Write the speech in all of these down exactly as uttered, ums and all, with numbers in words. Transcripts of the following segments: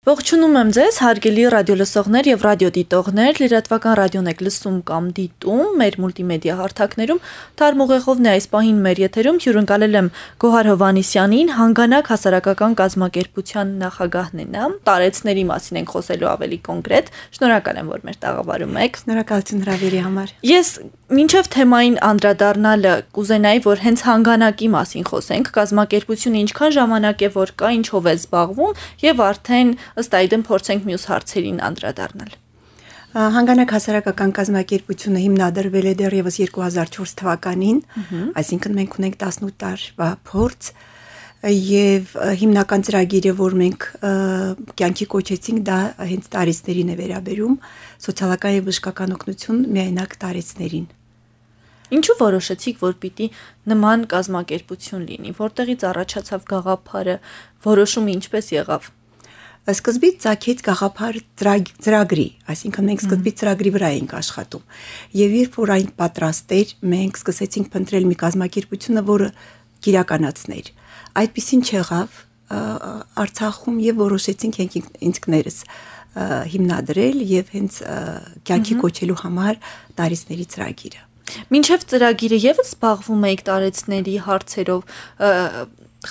Ողջունում եմ ձեզ, հարգելի ռադիոլսողներ եւ ռադիոդիտողներ, լրատվական ռադիոն եք լսում կամ դիտում, մեր մուլտիմեդիա հարթակներում, թարմուղեղովն է այս պահին մեր եթերում, հյուրընկալել եմ Գոհար Հովհաննիսյանին, Հանգանակ հասարակական կազմակերպության նախագահն է նա, տարեցների մասին ենք խոսելու ավելի կոնկրետ, շնորհակալ եմ, որ մեր տաղավարում եք։ Շնորհակալություն հրավերի համար։ Ես մինչև թեմային անդրադառնալը կուզենայի, որ հենց հանգանակի մասին խոսենք, կազմակերպությունը ինչքան ժամանակ է, որ կա, ինչով է զբաղվում եւ արդեն ըստ այդմ փորձենք մյուս հարցերին անդրադառնալ։ Հանգանակ հասարակական կազմակերպությունը հիմնադրվել է դեռևս երկու հազար չորս թվականին, այսինքն մենք ունենք տասնութ տարվա փորձ եւ հիմնական ծրագիրը, որ մենք կյանքի կոչեցինք, դա հենց տարեցներին է վերաբերում, սոցիալական եւ բժշկական օգնություն միայնակ տարեցներին։ Ինչու որոշեցիք, որ պիտի նման կազմակերպություն լինի, որտեղից առաջացավ գաղափարը, որոշումը ինչպես եղավ։ Սկզբից ծագեց գաղափար ծրագրի, այսինքն մենք սկզբից ծրագրի վրա էինք աշխատում։ Եվ երբ որ այն պատրաստ էր, մենք սկսեցինք փնտրել մի կազմակերպությունը, որը կիրականացներ։ Այդպիսին չեղավ Արցախում եւ որոշեցինք ինքներս հիմնադրել եւ հենց կյանքի կոչելու համար տարիցների ծրագիրը։ Մինչև ծրագիրը եւս զբաղվում եք տարեցների հարցերով,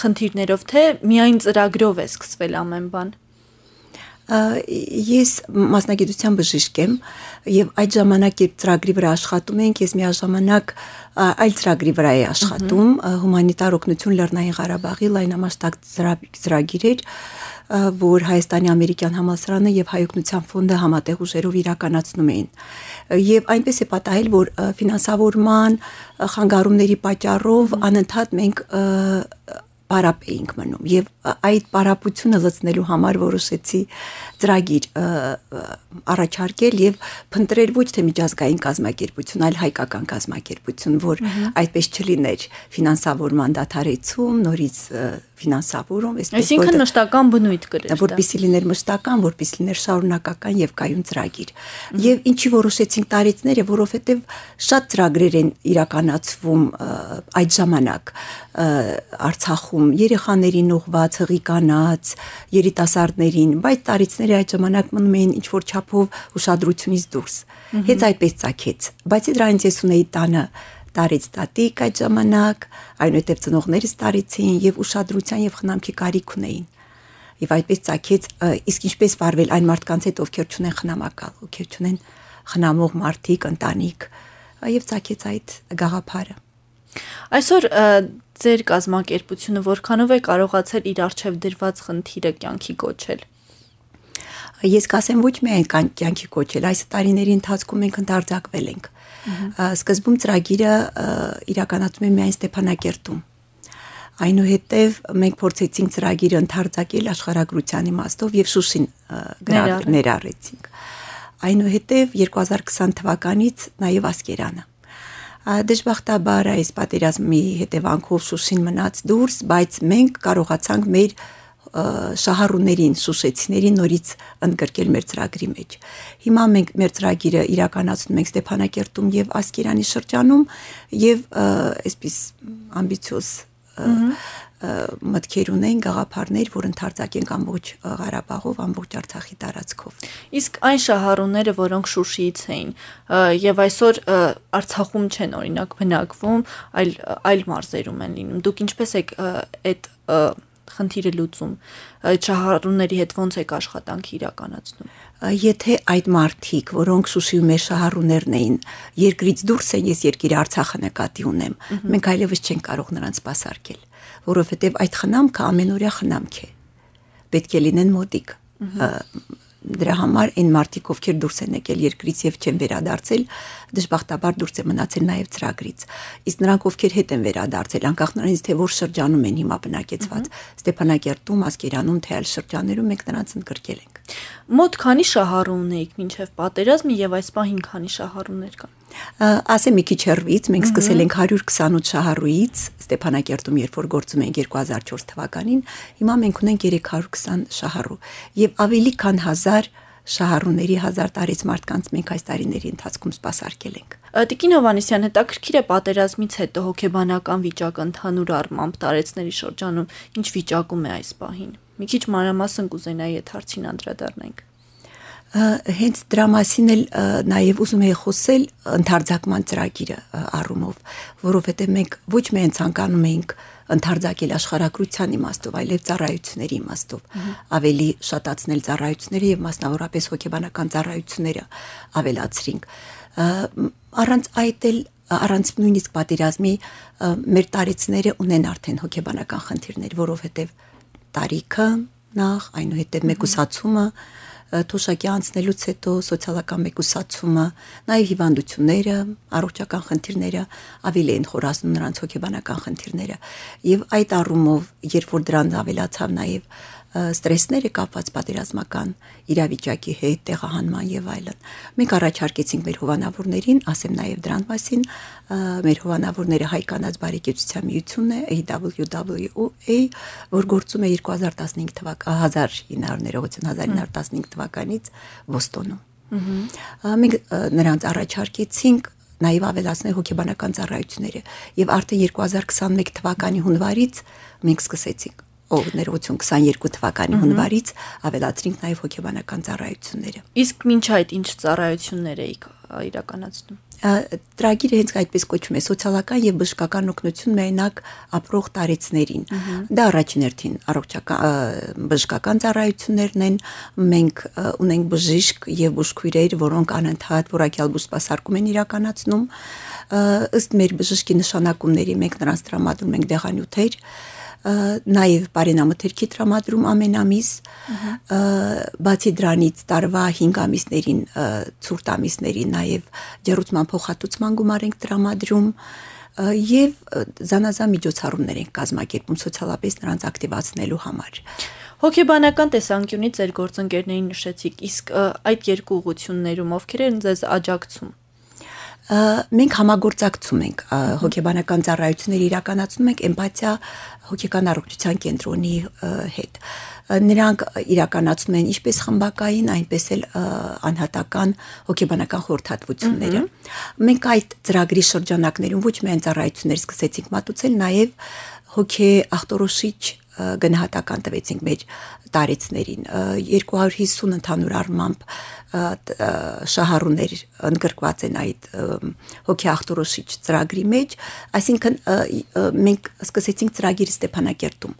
խնդիրներով, թե միայն ծրագրով է սկսվել ամեն բան։ Ես մասնագիտության բժիշկ եմ եւ այդ ժամանակ երբ ծրագրի վրա աշխատում ենք, ես միաժամանակ այլ ծրագրի վրա եմ աշխատում, հումանիտար օգնություն Լեռնային Ղարաբաղի լայնամասշտաբ ծրագիր էր, որ Հայաստանի ամերիկյան համալսարանը եւ Հայօգնության ֆոնդը համատեղ ուժերով իրականացնում էին։ Եվ այնպես է պատահել, որ ֆինանսավորման խանգարումների պատճառով անընդհատ մենք պարապ էինք մնում եւ այդ պարապությունը լցնելու համար որոշեցի ծրագիր առաջարկել եւ փնտրել ոչ թե միջազգային կազմակերպություն, այլ հայկական կազմակերպություն, որ այդպես չլիներ ֆինանսավորման դադարեցում, նորից ֆինանսավորում, այսինքն մշտական բնույթ կրեր, որպեսզի լիներ մշտական, որպեսզի լիներ շարունակական եւ կայուն ծրագիր։ Եվ ինչի որոշեցինք տարեցները, որովհետեւ շատ ծրագրեր են իրականացվում այդ ժամանակ Արցախում, երեխաներին ուղղված, հղիկանաց, երիտասարդներին, բայց տարիցները այդ ժամանակ մնում էին ինչ որ չափով ուշադրությունից դուրս։ Հենց այդպես ծագեց։ Բայց դրանից ես ունեի տանը տարեց տատիկ այդ ժամանակ, այնուհետև ծնողներս տարեցին եւ ուշադրության եւ խնամքի կարիք ունեին։ Եվ այդպես ծագեց, իսկ ինչպես վարվել այն մարդկանց հետ, ովքեր չունեն խնամակալ, ովքեր չունեն խնամող մարդիկ, ընտանիք, եւ ծագեց այդ գաղափարը։ Այսօր ձեր կազմակերպությունը որքանով է կարողացել իր արժեվ դրված խնդիրը կյանքի կոչել։ Ես կասեմ ոչ միայն կյանքի կոչել, այս տարիների ընթացքում մենք ընդարձակվել ենք։ Սկզբում ծրագիրը իրականացում է միայն Ստեփանակերտում։ Այնուհետև մենք փորձեցինք ծրագիրը ընդարձակել աշխարհագրության իմաստով եւ Շուշին ներառեցինք։ Այնուհետև երկու հազար քսան թվականից նաեւ Ասկերանը։ Դժբախտաբար այս պատերազմի հետևանքով Շուշին մնաց դուրս, բայց մենք կարողացանք մեր շահառուներին, շուշեցիներին նորից ընդգրկել մեր ծրագրի մեջ։ Հիմա մենք մեր ծրագիրը իրականացնում ենք Ստեփանակերտում եւ Ասկերանի շրջանում եւ այսպես ամբիցիոզ մտքեր ունեն, գաղափարներ, որ ընդարձակենք ամբողջ Ղարաբաղով, ամբողջ Արցախի տարածքով։ Իսկ այն շահառուները, որոնք Շուշիից էին եւ այսօր Արցախում չեն օրինակ բնակվում, այլ այլ մարզերում են լինում, դուք ինչպես եք այդ խնդիրը լուծում, այդ շահառուների հետ ոնց եք աշխատանք իրականացնում։ Եթե այդ մարդիկ, որոնք Շուշիում մեր շահառուներն էին, երկրից դուրս են, ես երկիրը Արցախը նկատի ունեմ, մենք այլևս չենք կարող նրանց սպասարկել, որովհետև այդ խնամքը ամենօրյա խնամք է։ Պետք է լինեն մոտիկ։ Դրա համար այն մարդիկ, ովքեր դուրս են եկել երկրից եւ չեն վերադարձել, դժբախտաբար դուրս է մնացել նաեւ ծրագրից։ Իսկ նրանք, ովքեր հետ են վերադարձել, անկախ նրանից, թե որ շրջանում են հիմա բնակեցված, Ստեփանակերտում, Ասկերանում, թե այլ շրջաններում, մենք նրանց ընդգրկել ենք։ Մոտ քանի շահառու ունեիք մինչև պատերազմը եւ այս պահին քանի շահառուներ կան։ Ասեմ մի քիչ հեռվից, մենք սկսել ենք հարյուր քսանութ շահառուից Ստեփանակերտում, երբ որ գործում ենք երկու հազար չորս թվականին, հիմա մենք ունենք երեք հարյուր քսան շահառու եւ ավելի քան հազար շահառուների, հազար տարեց մարդկանց մենք այս տարիների ընթացքում սպասարկել ենք։ Տիկին Հովհաննիսյան, հետաքրքիր է պատերազմից հետո հոգեբանական վիճակը ընդհանուր առմամբ տարեցների շրջանում ինչ վիճակում է այս պահին։ Մի քիչ մանրամասն կուզենայի այդ հարցին անդրադառնանք։ Հենց դրա մասին էլ նաև ուզում եի խոսել ընդարձակման ծրագիրը առումով, որովհետև մենք ոչ միայն ցանկանում էինք ընդարձակել աշխարհագրության իմաստով, այլև ծառայությունների իմաստով, ավելի շատացնել ծառայությունները եւ մասնավորապես հոգեբանական ծառայությունները ավելացրինք։ Առանց այդ էլ առանց նույնիսկ պատերազմի մեր տարեցները ունեն արդեն հոգեբանական խնդիրներ, որովհետև տարիքը նախ, այնուհետև մեկուսացումը, թոշակի անցնելուց հետո սոցիալական մեկուսացումը, նաև հիվանդությունները, առողջական խնդիրները ավելի են խորացնում նրանց հոգեբանական խնդիրները։ Եվ այդ առումով, երբ որ դրան ավելացավ նաև ստրեսները կապված պատերազմական իրավիճակի հետ, տեղահանման եւ այլն, մենք առաջարկեցինք մեր հովանավորներին, ասեմ նաև դրան մասին, մեր հովանավորները Հայ կանանց բարեկեցության միությունն է A W W A, որ գործում է երկու հազար տասնհինգ թվականից Բոստոնում։ Մենք նրանց առաջարկեցինք նաև ավելացնել հոգեբանական ծառայությունները եւ արդեն երկու հազար քսաներկու թվականի հունվարից մենք սկսեցինք ով ներողություն քսաներկու թվականի հունվարից ավելացրինք նաև հոգեբանական ծառայությունները։ Իսկ մինչ այդ ինչ ծառայություններ էիք իրականացնում։ Ծրագիրը հենց այդպես կոչվում է սոցիալական եւ բժշկական օգնություն միայնակ ապրող տարեցներին։ Դա առաջին հերթին առողջական բժշկական ծառայություններն են։ Մենք ունենք բժիշկ եւ բուժքույրեր, որոնք անընդհատ որակյալ բուժսպասարկում են իրականացնում։ Ըստ մեր բժշկի նշանակումների մենք նրանց տրամադրում ենք դեղանյութեր, նաև բարենամթերքի տրամադրում ամեն ամիս, բացի դրանից տարվա հինգ ամիսներին, ցուրտ ամիսներին նաև ջեռուցման փոխհատուցման գումար ենք տրամադրում եւ զանազան միջոցառումներ ենք կազմակերպում սոցիալապես նրանց ակտիվացնելու համար։ Հոգեբանական տեսանկյունից ձեր գործընկերներին նշեցիք, իսկ այդ երկու ուղղություններում ովքեր են ձեզ աջակցում։ Մենք համագործակցում ենք հոգեբանական ծառայություններ իրականացնում ենք էմպաթիա հոգեկան առողջության կենտրոնի հետ։ Նրանք իրականացնում են ինչպես խմբակային, այնպես էլ անհատական հոգեբանական խորհրդատվությունները։ Մենք այդ ծրագրի շրջանակներում ոչ միայն ծառայություններ սկսեցինք մատուցել, նաև հոգե ախտորոշիչ գնահատական տվեցինք մեր տարեցներին, երկու հարյուր հիսուն ընդհանուր առմամբ շահառուներ ընդգրկված են այդ հոգի ախտորոշիչ ծրագրի մեջ, այսինքն մենք սկսեցինք ծրագիրը Ստեփանակերտում,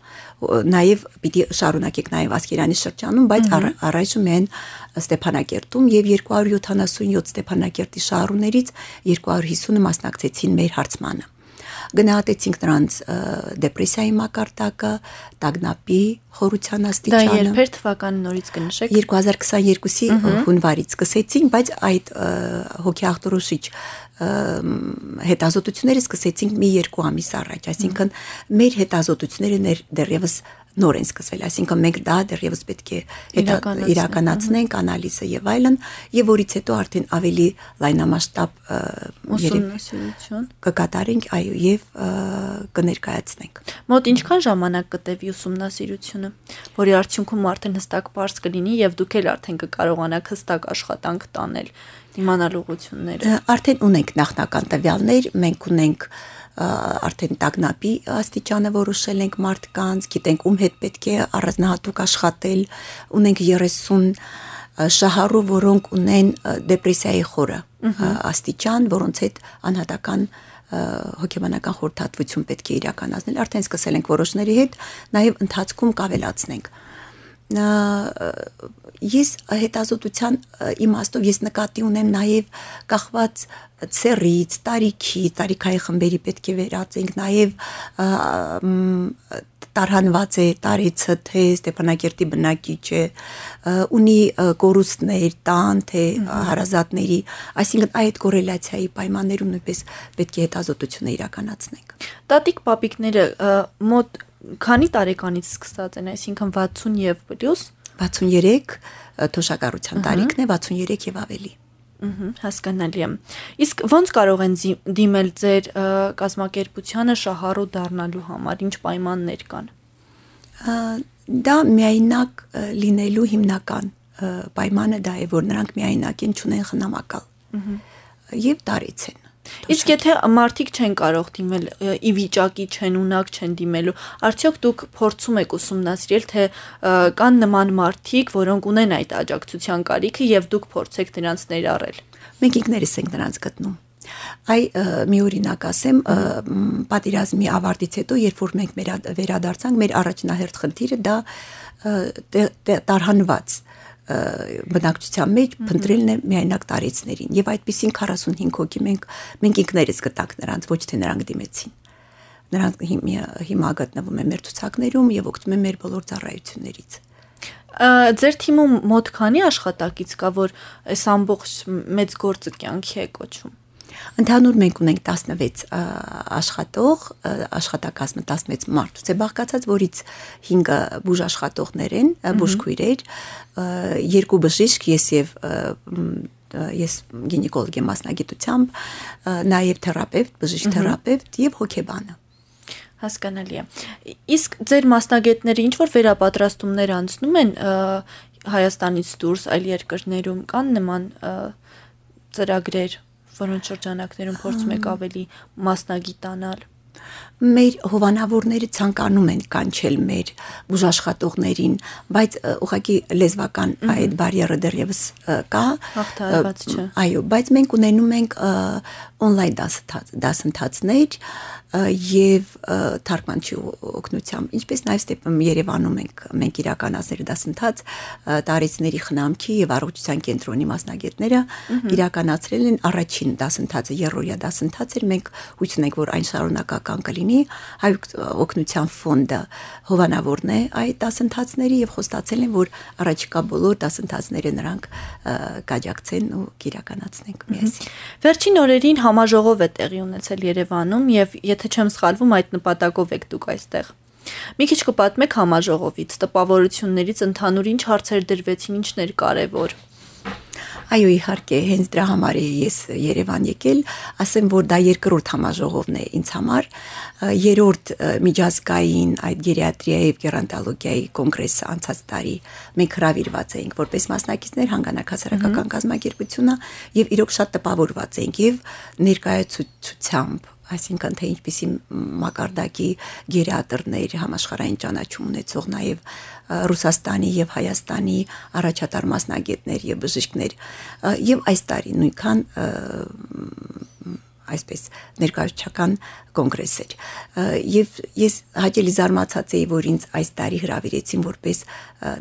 նաև պիտի շարունակենք նաև Ասկերանի շրջանում, բայց առայժմ են Ստեփանակերտում եւ երկու հարյուր յոթանասունյոթ Ստեփանակերտի շահառուներից երկու հարյուր հիսունը մասնակցեցին մեր հարցմանը։ Գնահատեցինք նրանց դեպրեսիայի մակարդակը, տագնապի խորության աստիճանը։ Դա երբեր թվականի նորից կնշեք։ երկու հազար քսաներկուի հունվարից սկսեցինք, բայց այդ հոգի ախտորոշիչ հետազոտությունները սկսեցինք մի երկու ամիս առաջ, այսինքն մեր հետազոտությունները դեռևս նոր են սկսվել, այսինքն մենք դա դեռևս պետք է իրականացնենք, անալիզը եւ այլն, եւ որից հետո արդեն ավելի լայնամասշտաբ ուսումնասիրություն կկատարենք, այո, եւ կներկայացնենք։ Մոտ ինչքան ժամանակ կտևի ուսումնասիրությունը, որի արդյունքում արդեն հստակ բարձ կլինի եւ դուք էլ արդեն կկարողանաք հստակ աշխատանք տանել, իմանալ ուղղությունները։ Արդեն ունենք նախնական տվյալներ, մենք ունենք արդեն տագնապի աստիճանը որոշել ենք մարդկանց, գիտենք ում հետ պետք է առանձնահատուկ աշխատել, ունենք երեսուն շահառու, որոնք ունեն դեպրեսիայի խորը աստիճան, որոնց հետ անհատական հոգեբանական խորհրդատվություն պետք է իրականացնել, արդեն սկսել ենք որոշների հետ, նաև ընթացքում կավելացնենք։ Ես հետազոտության իմաստով ես նկատի ունեմ նաև կախված ցերից, տարիքի, տարիքային խմբերի պետք է վերածենք, նաև տարհանված է տարեցը, թե Ստեփանակերտի բնակիչ է, ունի կորուստներ, տան, թե հարազատների, այսինքն այդ կորելացիայի պայմաններում նույնպես պետք է հետազոտությունը իրականացնենք։ Տատիկ պապիկները մոտ քանի տարեկանից սկսած են, այսինքն վաթսուն եւ պլյուս վաթսուներեք թոշակառության տարիքն է, վաթսուներեք եւ ավելի։ Հասկանալի է։ Իսկ ո՞նց կարող են դիմել ձեր կազմակերպությանը շահառու դառնալու համար, ինչ պայմաններ կան։ Դա միայնակ լինելու հիմնական պայմանը դա է, որ նրանք միայնակ են, չունեն խնամակալ եւ տարեց են։ Իսկ եթե մարդիկ չեն կարող դիմել, ի վիճակի չեն, ունակ չեն դիմելու, արդյոք դուք փորձում եք ուսումնասիրել, թե կան նման մարդիկ, որոնք ունեն այդ աջակցության կարիքը եւ դուք փորձեք նրանց ներառել։ Մենք ինքներս ենք նրանց գտնում։ Այ մի օրինակ ասեմ, պատերազմի ավարտից հետո, երբ որ մենք վերադարձանք, մեր առաջնահերթ խնդիրը դա տարհանված բնակչության մեջ փնտրելն է միայնակ տարեցներին եւ այդպիսին քառասունհինգ հոգի մենք մենք ինքներս գտանք նրանց, ոչ թե նրանք դիմեցին։ Նրանք հիմա գտնվում են մեր ցուցակներում եւ օգտվում են մեր բոլոր ծառայություններից։ Ձեր թիմում մոտ քանի աշխատակից կա, որ այս ամբողջ մեծ գործը կյանքի է կոչում։ Ընդհանուր մենք ունենք տասնվեց աշխատող, աշխատակազմը տասնվեց մարդուց է բաղկացած, որից հինգը բուժ աշխատողներ են, բուժքույրեր, երկու բժիշկ, ես եւ ես գինեկոլոգ եմ մասնագիտությամբ, նաեւ թերապևտ, բժիշկ թերապևտ եւ հոգեբանը։ Հասկանալի է։ Իսկ ձեր մասնագետները ինչ որ վերապատրաստումներ անցնում են Հայաստանից դուրս այլ երկրներում, կան նման ծրագրեր, որոնց շրջանակներում փորձում եք ավելի մասնագիտանալ։ Մեր հովանավորները ցանկանում են կանչել մեր բուժաշխատողներին, բայց ուղղակի լեզվական այդ բարիերը դեռևս կա։ Հաղթահարված չէ։ Այո, բայց մենք ունենում ենք on-line դասընթացներ եւ թարգմանչի օգնությամբ, ինչպես նաեւ Ստեփան Երևանում ենք մենք իրականացնել դասընթաց տարեցների խնամքի եւ առողջության կենտրոնի մասնագետները իրականացրել են առաջին դասընթացը երրորդյա դասընթաց էր, մենք հույս ունենք, որ այն շարունակական կլինի, հայ օգնության ֆոնդը հովանավորն է այդ դասընթացների եւ խոստացել են, որ առաջիկա բոլոր դասընթացները նրանք կաջակցեն ու կիրականացնենք միասին։ Վերջին օրերին համաժողով է տեղի ունեցել Երևանում եւ եթե չեմ սխալվում, այդ նպատակով եք դուք այստեղ։ Մի քիչ կպատմեք համաժողովից, տպավորություններից ընդհանուր ինչ հարցեր դրվեցին, ինչն էր կարևոր։ Այո, իհարկե, հենց դրա համար է ես Երևան եկել, ասեմ, որ դա երկրորդ համաժողովն է ինձ համար, երրորդ միջազգային այդ գերիատրիայի եւ գերանտոլոգիայի կոնգրեսը անցած տարի մենք հրավիրված էինք որպես մասնակիցներ հանգանակ հասարակական կազմակերպությունը եւ իրոք շատ տպավորված էինք եւ ներկայացուցությամբ, այսինքն թե ինչպիսի մակարդակի գերիատրներ համաշխարհային ճանաչում ունեցող նաեւ Ռուսաստանի եւ Հայաստանի առաջատար մասնագետներ եւ բժիշկներ եւ այս տարի նույնքան այսպես ներկայացուցչական կոնգրես էր եւ ես հաճելի զարմացած էի, որ ինձ այս տարի հրավիրեցին որպես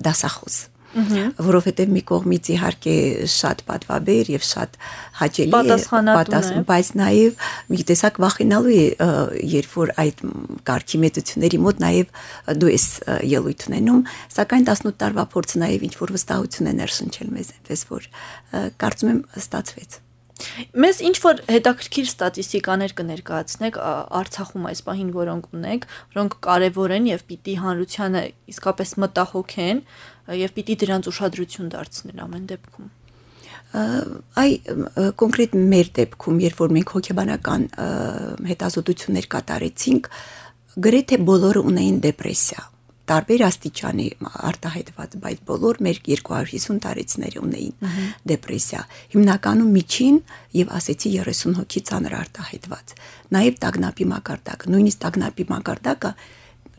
դասախոս, որովհետեւ մի կողմից իհարկե շատ պատվաբեր եւ շատ հաճելի է, բայց նաեւ մի տեսակ վախենալու է, երբ որ այդ կարգի մեծությունների մոտ նաեւ դու ես ելույթ ունենում, սակայն տասնութ տարվա փորձը նաեւ ինչ որ վստահություն է ներշնչել մեզ, այնպես որ կարծում եմ ստացվեց։ Մեզ ինչ որ հետաքրքիր ստատիստիկաներ կներկայացնեք Արցախում այս պահին, որոնք ունեք, որոնք կարևոր են եւ պիտի հանրությանը իսկապես մտահոգեն եւ պիտի դրանց ուշադրություն դարձնել ամեն դեպքում։ Այ կոնկրետ մեր դեպքում, երբ որ մենք հոգեբանական հետազոտություններ կատարեցինք, գրեթե բոլորը ունեին դեպրեսիա։ Տարբեր աստիճանի արտահայտված, բայց բոլոր մեր երկու հարյուր հիսուն տարեցները ունեին դեպրեսիա։ Հիմնականում միջին եւ ասեցի երեսուն հոգի ծանր արտահայտված։ Նաեւ տագնապի մակարդակ, նույնիսկ տագնապի մակարդակը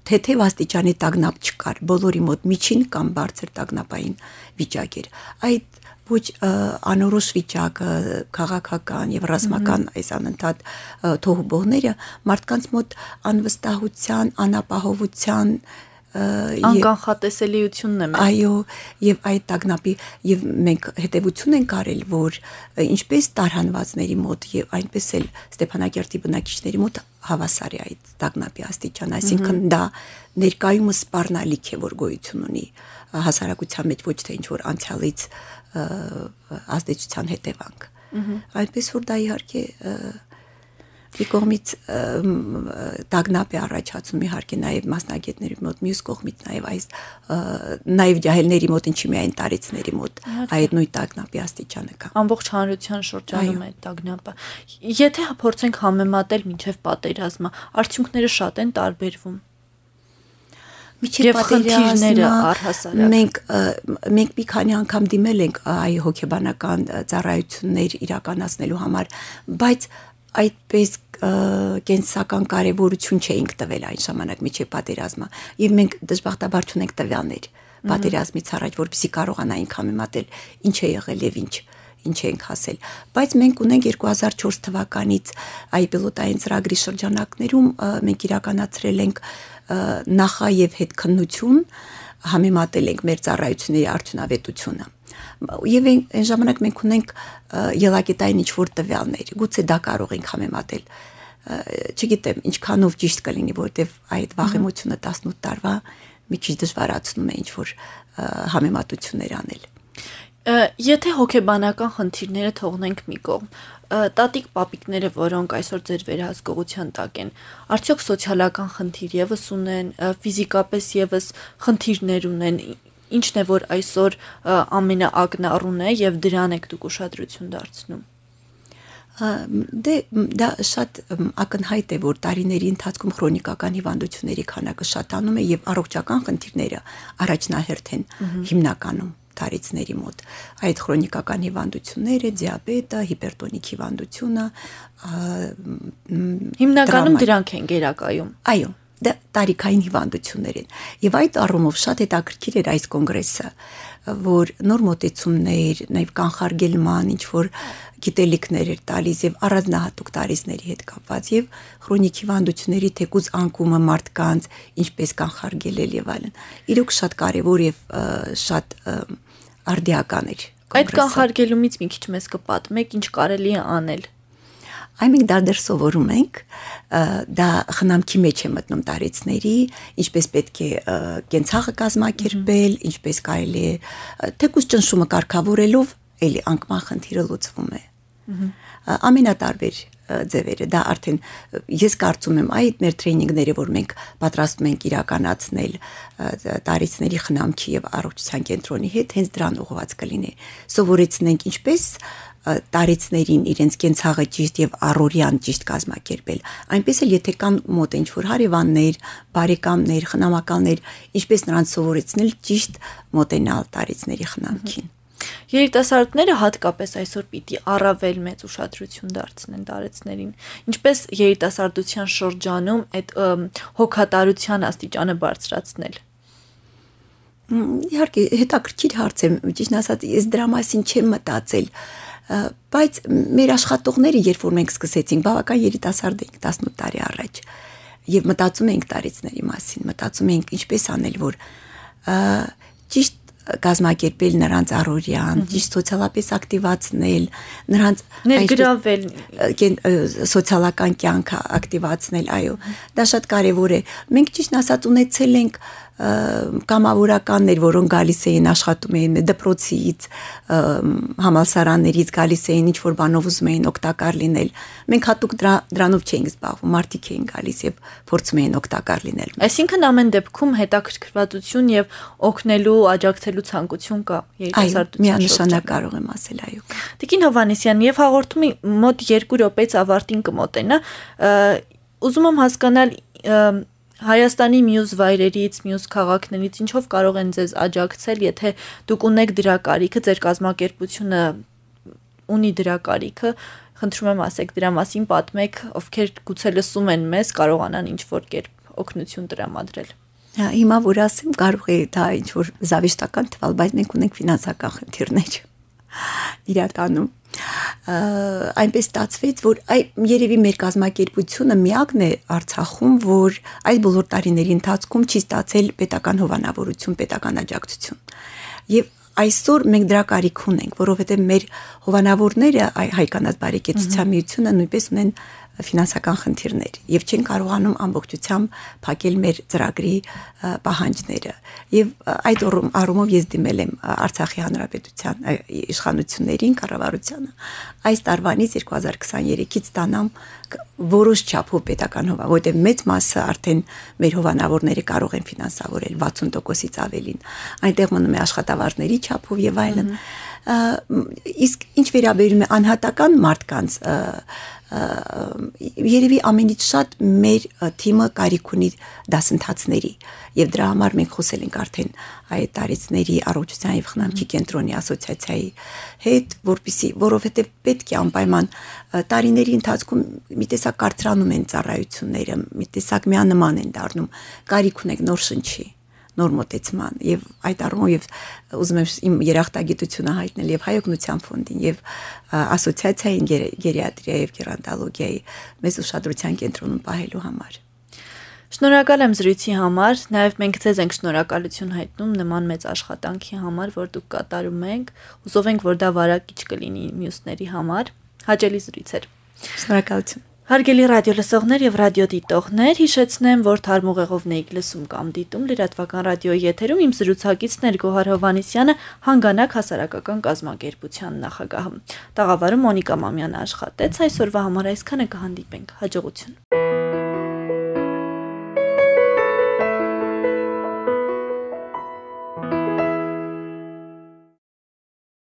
թեթև աստիճանի տագնապ չկար, բոլորի մոտ միջին կամ բարձր տագնապային վիճակ էր։ Այդ ոչ անորոշ վիճակը, քաղաքական եւ ռազմական այս անընդհատ թոհուբողները մարդկանց մոտ անվստահության, անապահովության անկանխատեսելիությունն է։ Այո, եւ այդ տագնապի եւ մենք հետեւություն ենք արել, որ ինչպես տարհանվածների մոտ եւ այնպես էլ Ստեփանակերտի բնակիչների մոտ հավասար է այդ տագնապի աստիճան, այսինքն դա ներկայումս սպառնալիք է, որ գոյություն ունի հասարակության մեջ, ոչ թե ինչ որ անցյալից ազդեցության հետևանք։ Այնպես որ դա իհարկե մի կողմից տագնապ է առաջացում իհարկե նաև մասնագետների մոտ, մյուս կողմից նաև այս նաև ջահելների մոտ, ինչի միայն տարեցների մոտ այդ նույն տագնապի աստիճանը կա։ Ամբողջ հանրության շրջանում է տագնապը։ Եթե փորձենք համեմատել մինչև պատերազմը, արդյունքները շատ են տարբերվում։ Միջև պատերազմը առհասարակ մենք մենք մի քանի անգամ դիմել ենք այ հոգեբանական ծառայություններ իրականացնելու համար, բայց այդպես կենսական կարևորություն չէինք տվել այն ժամանակ միջև պատերազմը եւ մենք դժբախտաբար չունենք տվյալներ պատերազմից առաջ, որպեսզի կարողանայինք համեմատել ինչ է եղել եւ ինչ ինչ ենք հասել, բայց մենք ունենք երկու հազար չորս թվականից այ պիլոտային ծրագրի շրջանակներում մենք իրականացրել ենք նախա եւ հետքննություն, համեմատել ենք մեր ծառայությունների արդյունավետությունը եւ այն ժամանակ մենք ունենք ելակետային ինչ-որ տվյալներ, գուցե դա կարող ենք համեմատել, չգիտեմ ինչքանով ճիշտ կլինի, որտեվ այդ վաղեմությունը տասնութ տարվա մի քիչ դժվարացնում է ինչ-որ համեմատություններ անել։ Եթե հոգեբանական խնդիրները թողնենք մի կողմ, տատիկ պապիկները, որոնք այսօր ձեր վերահսկողության տակ են, արդյոք սոցիալական խնդիր եւս ունեն, ֆիզիկապես եւս խնդիրներ ունեն, ինչն է որ այսօր ամենաակնառուն է եւ դրան եք դուք ուշադրություն դարձնում։ Դե դա շատ ակնհայտ է, որ տարիների ընթացքում քրոնիկական հիվանդությունների քանակը շատանում է եւ առողջական խնդիրները առաջնահերթ են հիմնականում տարիցների մոտ այդ քրոնիկական հիվանդությունները, դիաբետը, հիպերտոնիկ հիվանդությունը, հիմնականում դրանք են գերակայում։ Այո, դա տարիքային հիվանդություններ են։ Եվ այդ առումով շատ հետաքրքիր էր այս կոնգրեսը, որ նոր մոտեցումներ, նաև կանխարգելման ինչ որ գիտելիքներ էր տալիս եւ առանձնահատուկ տարիցների հետ կապված եւ քրոնիկ հիվանդությունների թեկուզ անկումը մարդկանց ինչպես կանխարգելել եւ այլն։ Իրոք շատ կարեւոր եւ շատ արդիական էր։ Այդ կանխարգելումից մի քիչ մեզ կպատմեք, ինչ կարելի է անել։ Այն մենք դարձ սովորում ենք, դա խնամքի մեջ է մտնում տարիցների, ինչպես պետք է կենցաղը կազմակերպել, ինչպես կարելի է թեկուզ ճնշումը կարգավորելով էլի անկման խնդիրը լուծվում է։ Ամենատարբեր ձևերը, դա արդեն ես կարծում եմ այդ մեր տրեյնինգները, որ մենք պատրաստում ենք իրականացնել տարիցների խնամքի եւ առողջության կենտրոնի հետ, հենց դրան ուղղված կլինի։ Սովորեցնենք ինչպես տարիցներին իրենց կենցաղը ճիշտ եւ առօրյան ճիշտ կազմակերպել, այնպես էլ եթե կան մոտ ինչ-որ հարևաններ, բարեկամներ, խնամակալներ, ինչպես նրանց սովորեցնել ճիշտ մոտենալ տարիցների խնամքին։ Երիտասարդները հատկապես այսօր պիտի առավել մեծ ուշադրություն դարձնեն տարեցներին, ինչպես երիտասարդության շրջանում այդ հոգատարության աստիճանը բարձրացնել։ Իհարկե հետաքրքիր հարց է, ճիշտ ասած, ես դրա մասին չեմ մտածել, բայց մեր աշխատողները, երբ որ մենք սկսեցինք, բավական երիտասարդ էինք տասնութ տարի առաջ, եւ մտածում էինք տարիցների մասին, մտածում էինք ինչպես անել, որ ճիշտ կազմակերպել նրանց առօրյան, ճիշտ սոցիալապես ակտիվացնել, նրանց ներգրավել սոցիալական կյանքը ակտիվացնել, այո, դա շատ կարևոր է։ Մենք ճիշտ ասած ունեցել ենք կամավորականներ, որոնք գալիս էին աշխատում էին դպրոցից, համալսարաններից գալիս էին ինչ-որ բանով ուզում էին օգտակար լինել։ Մենք հատուկ դրանով չէինք զբաղվում, մարդիկ էին գալիս եւ փորձում էին օգտակար լինել։ Այսինքն ամեն դեպքում հետաքրքրվածություն եւ օգնելու, աջակցելու ցանկություն կա երիտասարդության շրջանում։ Միանշանակ կարող եմ ասել, այո։ Տիկին Հովհաննիսյան, եւ հաղորդումի մոտ երկու րոպեից ավարտին կմոտենա։ Ուզում եմ հասկանալ Հայաստանի մյուս վայրերից, մյուս քաղաքներից ինչով կարող են ձեզ աջակցել, եթե դուք ունեք դրա կարիքը, ձեր կազմակերպությունը ունի դրա կարիքը, խնդրում եմ ասեք դրա մասին, պատմեք, ովքեր գուցե լսում են մեզ, կարողանան ինչ-որ կերպ օգնություն տրամադրել։ Հիմա որ ասեմ, կարող է դա ինչ-որ զավեշտական թվալ, բայց մենք ունենք ֆինանսական խնդիրներ իրականում։ Այնպես ստացվեց, որ այ երևի մեր կազմակերպությունը միակն է Արցախում, որ այս բոլոր տարիների ընթացքում չի ստացել պետական հովանավորություն, պետական աջակցություն։ Եվ այսօր մենք դրա կարիք ունենք, որովհետև մեր հովանավորները, Հայ-կանաց բարեկեցության միությունը նույնպես ունեն ֆինանսական խնդիրներ եւ չեն կարողանում ամբողջությամբ փակել մեր ծրագրի պահանջները եւ այդ առումով ես դիմել եմ Արցախի հանրապետության իշխանություններին, կառավարությանը այս տարվանից երկու հազար քսաներեքից ստանամ որոշ չափով պետական հովանավոր, որտեղ մեծ մասը արդեն մեր հովանավորները կարող են ֆինանսավորել վաթսուն տոկոսից ավելին, այնտեղ մնում է աշխատավարձների չափով եւ այլն։ Իսկ ինչ վերաբերում է անհատական մարդկանց երևի ամենից շատ մեր թիմը կարիք ունի դասընթացների եւ դրա համար մենք խոսել ենք արդեն այդ տարիցների առողջության եւ խնամքի կենտրոնի ասոցիացիայի հետ, որպեսզի որովհետեւ պետք է անպայման տարիների ընթացքում մի տեսակ կարծրանում են ծառայությունները, մի տեսակ միանման են դառնում, կարիք ունենք նոր շնչի, նոր մոտեցման եւ այդ առումով եւ ուզում եմ իմ երախտագիտությունը հայտնել եւ հայօգնության ֆոնդին եւ ասոցիացիային գերիատրիա եւ գերոնտոլոգիայի մեծ ուշադրության կենտրոնում պահելու համար։ Շնորհակալ եմ զրույցի համար, նաև մենք ձեզ ենք շնորհակալություն հայտնում նման մեծ աշխատանքի համար, որ դուք կատարում եք, հուսով ենք, որ դա վարակիչ կլինի մյուսների համար, հաճելի զրույց էր։ Շնորհակալություն։ Հարգելի ռադիոլսողներ եւ ռադիոդիտողներ, հիշեցնեմ, որ Թարմ ուղեղով եք լսում կամ դիտում լրատվական ռադիոյի եթերում իմ զրուցակիցն էր Գոհար Հովհաննիսյանը, Հանգանակ հասարակական կազմակերպության նախագահը։ Տաղավարում Մոնիկա Մամյանը աշխատեց, այսօրվա համար այսքանը, կհանդիպենք, հաջողություն։